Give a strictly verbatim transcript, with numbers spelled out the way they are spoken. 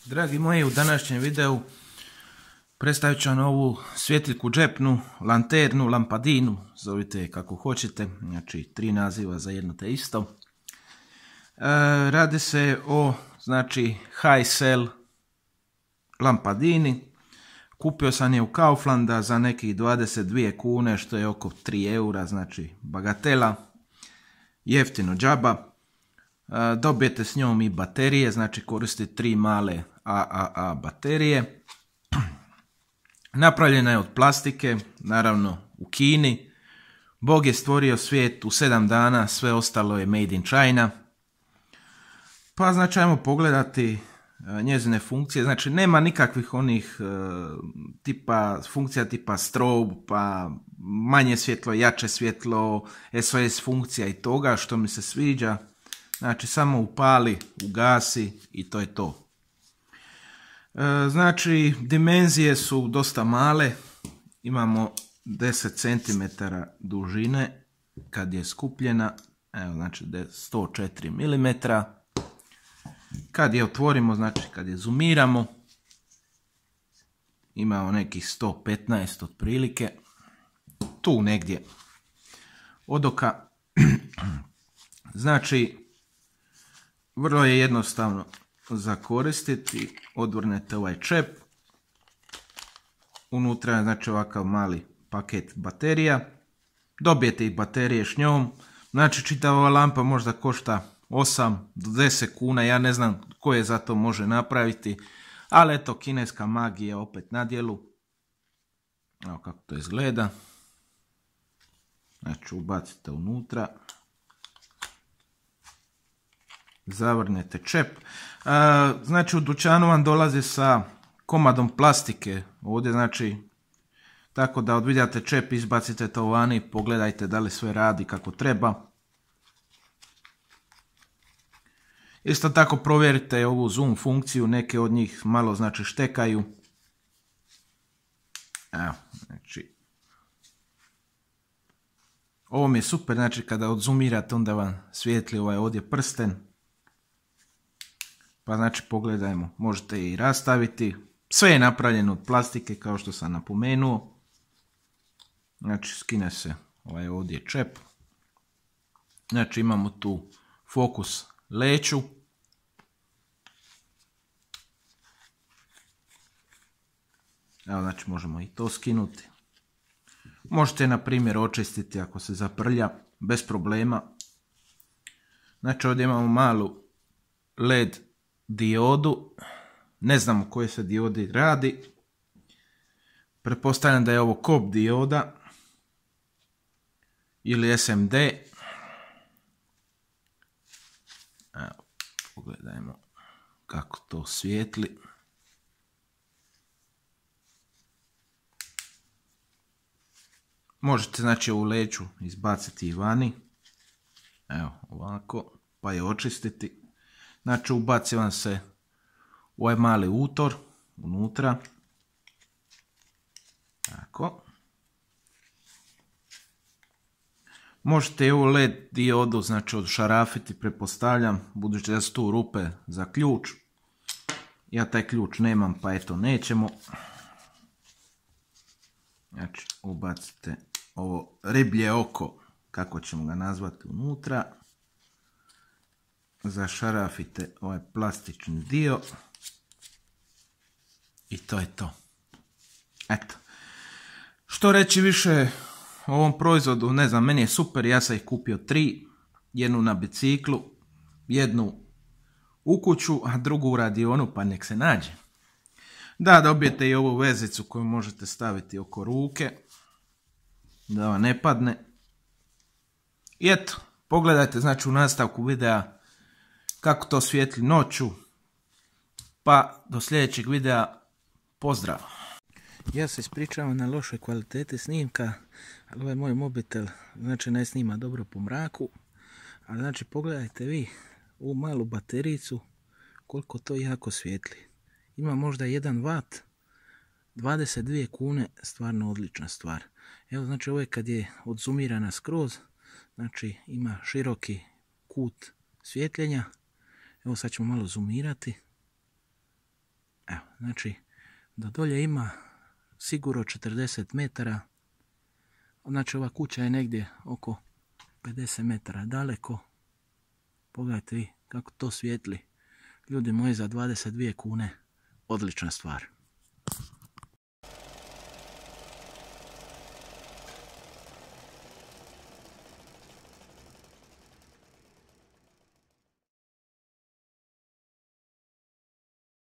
Dragi moji, u današnjem videu predstavit ću vam ovu svjetiljku džepnu, lanternu, lampadinu, zovite je kako hoćete, znači tri naziva za jedno te isto. E, radi se o, znači, high sell lampadini. Kupio sam je u Kauflanda za nekih dvadeset dvije kune, što je oko tri eura, znači bagatela, jeftino džaba. E, dobijete s njom i baterije, znači koristite tri male A A A baterije. Napravljena je od plastike, naravno u Kini. Bog je stvorio svijet u sedam dana, sve ostalo je made in China. Pa znači ajmo pogledati njezine funkcije. Znači nema nikakvih onih uh, tipa funkcija tipa strobe, pa manje svjetlo, jače svjetlo, S O S funkcija i toga što mi se sviđa. Znači samo upali, ugasi i to je to. Znači, dimenzije su dosta male, imamo deset centimetara dužine kad je skupljena, evo znači sto četiri milimetra. Kad je otvorimo, znači kad je zoomiramo, imamo nekih sto petnaest otprilike, tu negdje od oka. Znači, vrlo je jednostavno za koristiti. Odvrnete ovaj čep, unutra je znači ovakav mali paket baterija, dobijete i baterije s njom, znači čitava ova lampa možda košta osam do deset kuna, ja ne znam ko je za to može napraviti, ali eto, kineska magija opet na djelu. Evo kako to izgleda, znači ubacite unutra, zavrnete čep. A, znači u dućanu vam dolazi sa komadom plastike ovdje, znači tako da odvidjate čep, izbacite to vani, pogledajte da li sve radi kako treba. Isto tako provjerite ovu zoom funkciju, neke od njih malo znači štekaju. Evo, znači ovo mi je super, znači kada odzoomirate onda vam svijetli ovaj ovdje prsten. Pa znači pogledajmo, možete i rastaviti. Sve je napravljeno od plastike kao što sam napomenuo. Znači skine se ovaj ovdje čep. Znači imamo tu fokus leću. Evo znači možemo i to skinuti. Možete na primjer očistiti ako se zaprlja bez problema. Znači ovdje imamo malu L E D diodu, ne znam o kojoj se diodi radi, pretpostavljam da je ovo C O B dioda ili S M D. Evo, pogledajmo kako to svijetli. Možete znači ovu leću izbaciti i vani, evo ovako, pa je očistiti. Znači ubaci vam se u ovaj mali utor unutra. Tako. Možete i ovu L E D diodu znači odšarafiti, pretpostavljam, budući da su tu rupe za ključ. Ja taj ključ nemam, pa eto nećemo. Znači ubacite ovo riblje oko, kako ćemo ga nazvati, unutra. Zašarafite ovaj plastični dio i to je to. Eto. Što reći više o ovom proizvodu, ne znam, meni je super, ja sam ih kupio tri, jednu na biciklu, jednu u kuću, a drugu u radionu, pa nek se nađe. Da, dobijete i ovu vezicu koju možete staviti oko ruke, da vam ne padne. I eto, pogledajte znači u nastavku videa kako to svijetli noću, pa do sljedećeg videa, pozdrav! Ja se ispričavam na lošoj kvaliteti snimka, ali ovaj moj mobitel znači ne snima dobro po mraku, ali znači pogledajte vi ovu malu baterijicu koliko to jako svijetli. Ima možda jedan vat, dvadeset dvije kune, stvarno odlična stvar. Evo znači ovo je kad je odzoomirana skroz, znači ima široki kut svjetljenja. Evo sad ćemo malo zoomirati. Evo, znači, do dolje ima sigurno četrdeset metara. Znači, ova kuća je negdje oko pedeset metara daleko. Pogledajte vi kako to svijetli. Ljudi moji, za dvadeset dvije kune odlična stvar.